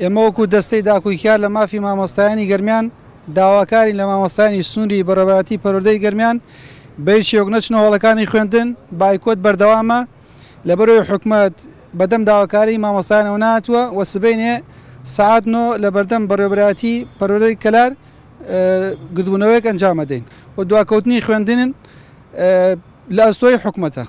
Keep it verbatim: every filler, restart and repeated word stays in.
ئێمە وەکو دەستەی داکۆکیار لە مافی مامۆستایانی گەرمیان داواکارین لە مامۆستایانی سنووری بەڕێوەبەرایەتی پەروەردەی گەرمیان بە هیچ شێوەیەک نەچنە هۆڵەکانی خوێندن. بایکۆت بەردەوامە لەبەرەوەی حکومەت بەدەم داواکاری مامۆستایانەوە نهاتووە و سبەینێ سەعات نۆ لە بەردەم بەڕێوەبەرایەتی پەروەردەی کەلار گردبوونەوەیەک ئەنجامەدەین و دواکەوتنی خوێندنن لە ئەستۆی حکومەتە.